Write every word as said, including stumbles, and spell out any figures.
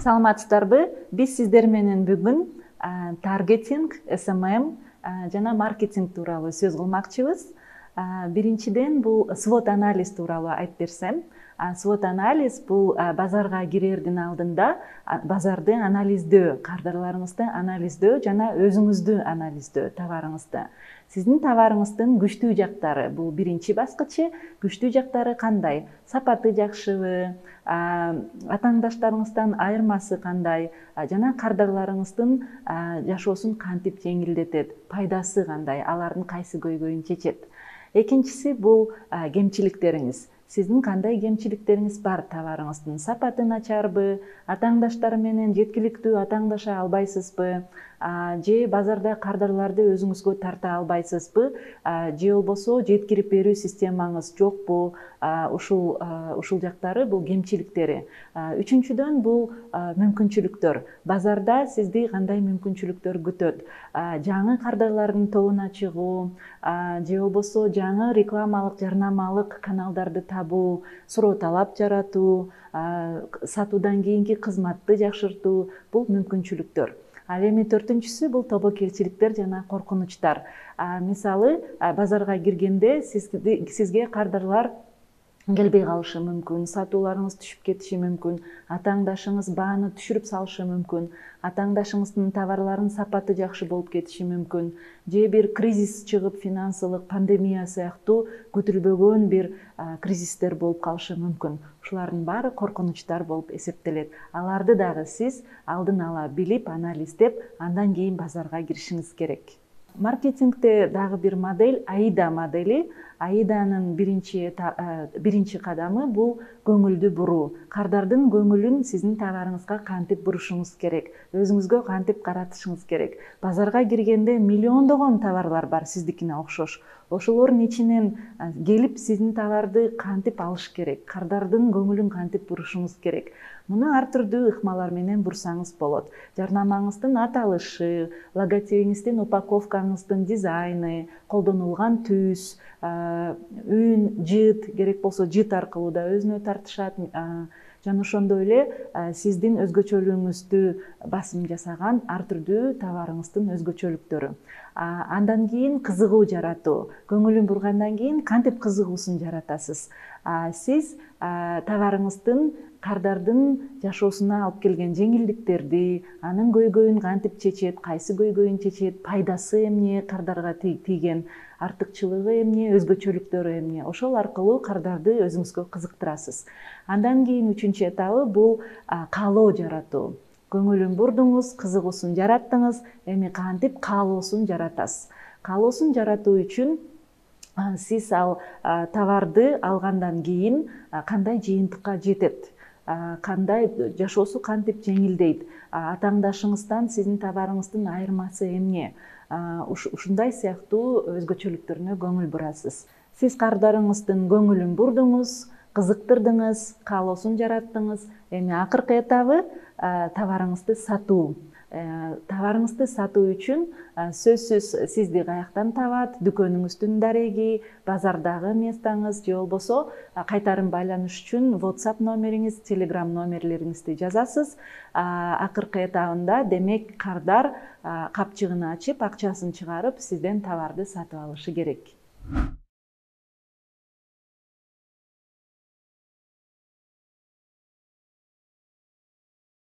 Саламатсыздарбы? Биз сиздер менен бүгүн таргетинг, эс эм эм жана маркетинг тууралуу сөз кылмакчыбыз. Биринчиден бул свот анализ тууралуу айтып берсем. Свот анализ бул базарга кирердин алдында базарды анализдөө, кардарларыңызды анализдөө жана өзүңүздү анализдөө, товарыңызды. Сиздин товарыңыздын күчтүү жактары бул биринчи баскычы. Күчтүү жактары кандай? Сапаты жакшыбы? Атааңдаштарыңыздан айырмасы кандай? Жана кардарларыңыздын жашоосун кантип жеңилдетет? Пайдасы кандай? Алардын кайсы көйгөйүн чечет? Экинчиси бул кемчиликтериңиз. Сиздин кандай кемчиликтериңиз бар товарыңыздын? Сапаты начарбы? Атааңдаштар менен жеткиликтүү атааңдаша албайсызбы? Же базарда кардарларды өзүңүзгө тарта албайсызбы? Же болбосо жеткирип берүү системаңыз жокпу? Ушул ушул жактары бул кемчиликтери. Үчүнчүдөн бул мүмкүнчүлүктөр. Базарда сизди кандай мүмкүнчүлүктөр күтөт? Жаңы кардарлардын тобуна чыгуу, же болбосо жаңы рекламалык, жарнамалык каналдарды табуу, суроо талап жаратуу, сатуудан кийинки кызматты жакшыртуу бул мүмкүнчүлүктөр. Ал эми төртүнчүсү бул тобокелчиликтер жана коркунучтар. Мисалы, базарга киргенде сизге кардарлар келбей калышы мүмкүн, сатууларыңыз түшүп кетиши мүмкүн, атааңдашыңыз бааны түшүрүп салышы мүмкүн, атааңдашыңыздын товарларынын сапаты жакшы болуп кетиши мүмкүн, же бир кризис чыгып, финансылык, пандемия сыяктуу күтүлбөгөн бир кризистер болуп калышы мүмкүн. Ушулардын баары коркунучтар болуп эсептелет. Аларды дагы сиз алдын ала билип, анализдеп, андан кийин базарга киришиңиз керек. Маркетингде дагы бир модель аида модели. Аиданын биринчи биринчи кадамы бул көңүлдү буруу. Кардардын көңүлүн сиздин товарыңызга кантип бурушуңуз керек, өзүңүзгө кантип каратышыңыз керек. Базарга киргенде миллиондогон товарлар бар сиздикине окшош. Ошолордун ичинен келип сиздин товарды кантип алыш керек, кардардын көңүлүн кантип бурушуңуз керек. Муну ар түрдүү ыкмалар менен бурсаңыз болот. Жарнамаңыздын аталышы, логотипиңиздин, упаковкаңыздын дизайны, колдонулган түс, үн, жыт, керек болсо жыт аркылуу да өзүнө тартышат. Жана ошондой эле сиздин өзгөчөлүгүңүздү басым жасаган ар түрдүү товарыңыздын өзгөчөлүктөрү. Андан кийин кызыгуу жаратуу. Көңүлүн бургандан кийин кантип кызыгуусун жаратасыз? Сиз товарыңыздын кардардын жашоосуна алып келген жеңилдиктерди, анын көйгөйүн кантип чечет, кайсы көйгөйүн чечет, пайдасы эмне, кардарга тийген артыкчылыгы эмне, өзгөчөлүктөрү эмне. Ошол аркылуу кардарды өзүңүзгө кызыктырасыз. Андан кийин үчүнчү этабы бул каалоо жаратуу. Көңүлүн бурдуңуз, кызыгуусун жараттыңыз, эми кантип каалоосун жаратасыз? Каалоосун жаратуу үчүн сиз ал товарды алгандан кийин кандай жыйынтыкка жетет? Кандай жашоосу кантип жеңилдейт? Атааңдашыңыздан сиздин товарыңыздын айырмасы эмне? Ушундай сыяктуу өзгөчөлүктөрүнө көңүл бурасыз. Сиз кардарыңыздын көңүлүн бурдуңуз, кызыктырдыңыз, каалоосун жараттыңыз. Эми акыркы этабы товарыңызды сатуу. Товарыңызды сатуу үчүн сөзсүз сизди каяктан табат, дүкөнүңүздүн дареги, базардагы местоңуз, же болбосо кайтарым байланыш үчүн WhatsApp номериңиз, Telegram номерлериңизди жазасыз. Акыркы этабында демек кардар капчыгын ачып, акчасын чыгарып, сизден товарды сатып алышы керек.